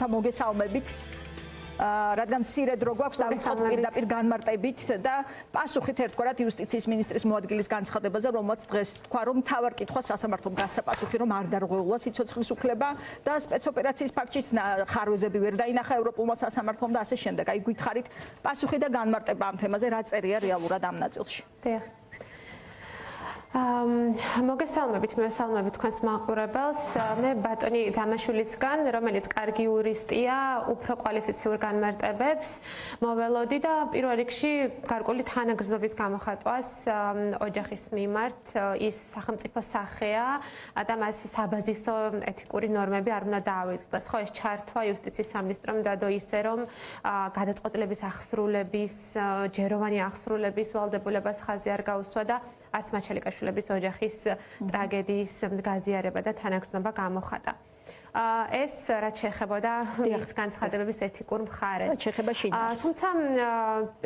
მოგესალმებით. რადგან მცირე დრო გვაქვს დავიწყოთ პირდაპირ განმარტებით და პასუხით ერთგვარად იუსტიციის მინისტრის მოადგილის განცხადებაზე, რომელმაც დღეს თქვა, რომ მთავარ კითხვას სასამართლომ გასცა პასუხი, რომ არ დარღვეულა სიცოცხლის უფლება და სპეცოპერაციის ფაქტშიც ხარვეზები ვერ დაინახა ევროპულმა სასამართლომ და ასე შემდეგ. აი გითხარით პასუხი და განმარტება ამ თემაზე, რა წერია რეალურად ამ ნაწილში. მოგესალმებით, მესალმებით თქვენს მაყურებელს. მე ბატონი დამაშვილისგან, რომელიც კარგი იურისტია, უფრო კვალიფიციურ განმარტებებს მოველოდი და პირველ რიგში გარკვეული თანაგრძნობის გამოხატვას ოჯახის მიმართ ის სახელმწიფო სახეა და მას საბაზისო ეთიკური ნორმები არ უნდა დაავიწყდეს. ხო, ეს ჩართვა იუსტიციის სამინისტრომ დადო ისე, რომ გადაწყვეტილების აღსრულების, ჯეროვანი აღსრულების ვალდებულებას ხაზი არ გაუსვა და არც მაჩალიკაშვილების ოჯახის ტრაგედიის გაზიარება და თანაგრძნობა გამოხატა. ეს რაც შეეხებოდა ის განცხადებების ეთიკურ მხარეს. თუმცა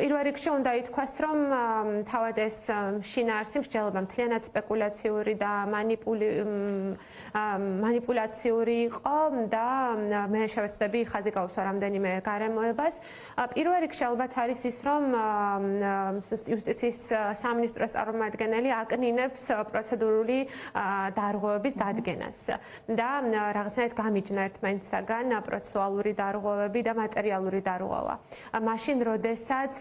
პირველ რიგში უნდა ითქვას, რომ თავად ეს შინაარსი მსჯელობა მთლიანად სპეკულაციური და მანიპულაციური იყო და მე შევეცდები ხაზი გავუსვა რამდენიმე გარემოებას. პირველ რიგში ალბათ არის ის, რომ იუსტიციის სამინისტროს წარმომადგენელი აკნინებს პროცედურული დარღვევების დადგენას და რაღაცნაირად გამიჯნა ერთმანეთსაგან პროცესუალური დარღვევები და მატერიალური დარღვევა. მაშინ, როდესაც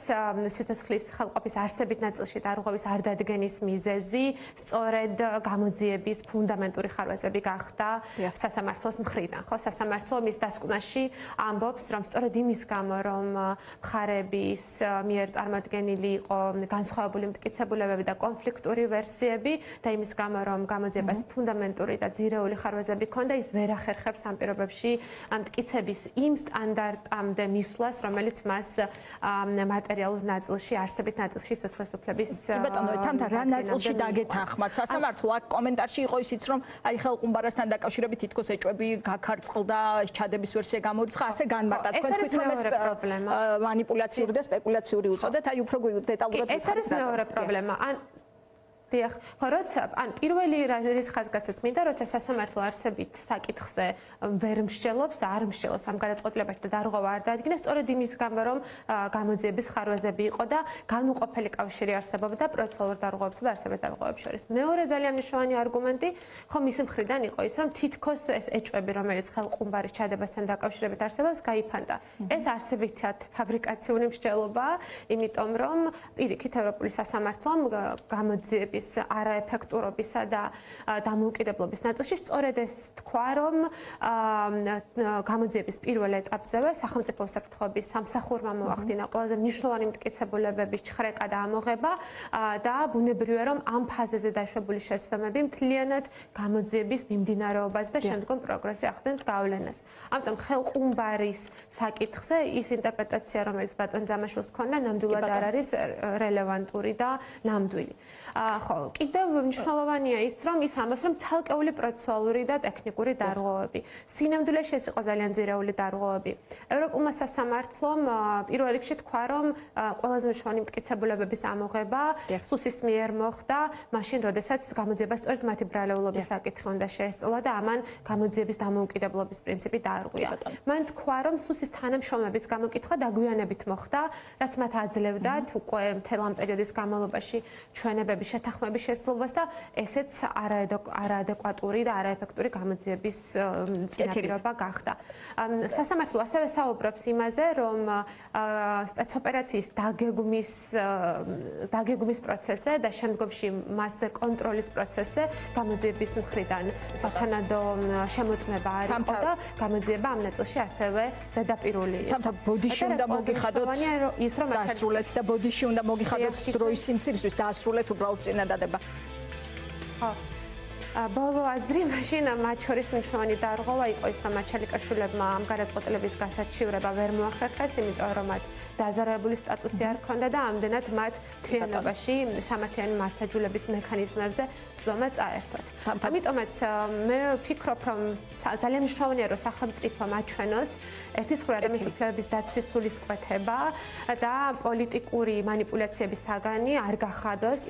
სიცოცხლის ხელყოფის არსებით ნაწილში დარღვევის არ დადგენის მიზეზი სწორედ გამოძიების ფუნდამენტური ხარვეზები გახდა სასამართლოს მხრიდან. ხო, სასამართლო მის დასკვნაში ამბობს, რომ სწორედ იმის გამო, რომ მხარების მიერ წარმოდგენილი იყო განსხვავებული მტკიცებულებები და კონფლიქტური ვერსიები და იმის გამო, რომ გამოძიებას ფუნდამენტური და ძირეული ხარვეზები ჰქონდა, ის ვერ ახერხებს ამ პირობებში მტკიცების იმ სტანდარტამდე მისვლას, რომელიც მას მატერიალურ ნაწილში, არსებით ნაწილში სიცოცხლის უფლების ბატონო, თამთა რა ნაწილში დაგეთანხმათ სასამართლო? აქ კომენტარში იყო ისიც, რომ აი ხელყუმბარასთან დაკავშირებით თითქოს ეჭვები გაქარწყლდა, ჩადების ვერსია გამორიცხა, ასე განმარტა. თქვენ თქვით, რომ ეს მანიპულაციური და სპეკულაციური უწოდეთ, აი უფრო დეტალურად ეს არის მეორე პრობლემა. დიახ, ხო, როცა ან პირველი ის ხაზგასცაც მინდა, როცა სასამართლო არსებით საკითხზე ვერ მსჯელობს და არ მსჯელობს ამ გადაწყვეტილებაში და დარღვევა არ დაადგინა, სწორედ იმის გამო, რომ გამოძიების ხარვეზები იყო და განუყოფელი კავშირი არსებობდა პროცესუალურ დარღვევებსა და არსებეთ დარღვევებს შორის. მეორე ძალიან მნიშვნელოვანი არგუმენტი ხო მისი მხრიდან იყო ის, რომ თითქოს ეს ეჭვები, რომელიც ხელყუმბარის ჩადებასთან დაკავშირებით არსებობს, გაიფანტა. ეს არსებითად ფაბრიკაციული მსჯელობაა, იმიტომ რომ პირიქით ევროპული სასამართლომ გამოძიების არაეფექტურობისა და დამოუკიდებლობის ნაწილში სწორედ ეს თქვა, რომ გამოძიების პირველ ეტაპზევე სახელმწიფო უსაფრთხოების სამსახურმა მოახდინა ყველაზე მნიშვნელოვანი მტკიცებულებების ჩხრეკა და ამოღება და ბუნებრივია, რომ ამ ფაზაზე დაშვებული შეცდომები მთლიანად გამოძიების მიმდინარეობაზე და შემდგომ პროგრესზე ახდენს გავლენას. ამიტომ ხელყუმბარის საკითხზე ის ინტერპრეტაცია, რომელიც ბატონ ძამაშვილს ჰქონდა, ნამდვილად არ არის რელევანტური და ნამდვილი. ხო, კიდევ მნიშვნელოვანია ის, რომ ის ამბობს, რომ ცალკეული პროცესუალური და ტექნიკური დარღვევები. სინამდვილეში ეს იყო ძალიან ძირეული დარღვევები. ევროპულმა სასამართლომ პირველ რიგში თქვა, რომ ყველაზე მნიშვნელოვანი მტკიცებულებების ამოღება სუსის მიერ მოხდა, მაშინ, როდესაც გამოძიება სწორედ მათი ბრალეულობის საკითხი უნდა შეესწავლა და ამან გამოძიების დამოუკიდებლობის პრინციპი დაარღვია. მან თქვა, რომ სუსის თანამშრომლების გამოკითხვა დაგვიანებით მოხდა, რაც მათ აძლევდათ უკვე მთელ ამ პერიოდის განმავლობაში ჩვენებების შეთანხმების შესაძლებლობას და ესეც არაადეკვატური და არაეფექტური გამოძიების წინაპირობა გახდა. სასამართლო ასევე საუბრობს იმაზე, რომ სპეცოპერაციის დაგეგმვის პროცესზე და შემდგომში მასზე კონტროლის პროცესზე გამოძიების მხრიდან სათანადო შემოწმება არ იყო და გამოძიება ამ ნაწილში ასევე ზედაპირული იყო. თამთა ბოდიში უნდა მოგიხადოთ ის რომ დასრულეთ და ბოდიში უნდა მოგიხადოთ დროის სიმცირისთვის დასრულეთ უბრალოდ წინადადება. ხო. ბოლო აზრი მაშინ მათ შორის მნიშვნელოვანი დარღვევა იყო ის, რომ მაჩალიკაშვილებმა ამ გადაწყვეტილების გასაჩივრება ვერ მოახერხეს, იმიტომ რომ მათ დაზარალებული სტატუსი არ ჰქონდა და ამდენად მათ მთლიანობაში სამართლიანი მართლმსაჯულების მექანიზმებზე ცდომა წაერთვათ. ამიტომაც მე ვფიქრობ, რომ ძალიან მნიშვნელოვანია, რომ სახელმწიფო მაჩვენოს ერთის მხრივ ადამიანის უფლებების დაცვის სულისკვეთება და პოლიტიკური მანიპულაციების საგანი არ გახადოს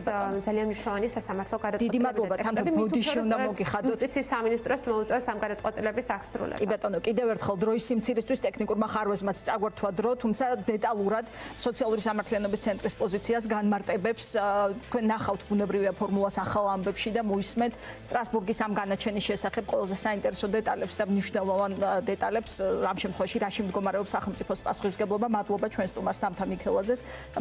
ძალიან მნიშვნელოვანი სასამართლო გადაწყვეტილების. დიდი მადლობა, თამთა ბოდიში უნდა მოგიხადოთ. იუსტიციის სამინისტროს მოუწევს ამ გადაწყვეტილების აღსრულება. კი ბატონო, კიდევ ერთხელ დროის სიმცირისთვის ტექნიკურმა ხარვეზმაც წაგვართვა დრო, თუმცა დეტალურად სოციალური სამართლიანობის ცენტრის პოზიციას განმარტებებს თქვენ ნახავთ ბუნებრივია ფორმულას ახალ ამბებში და მოისმენთ სტრასბურგის ამ განაჩენის შესახებ ყველაზე საინტერესო დეტალებს და მნიშვნელოვან დეტალებს ამ შემთხვევაში რაში მდგომარეობს სახელმწიფოს პასუხისმგებლობა. მადლობა ჩვენ სტუმარს დამთა მიქელაძეს და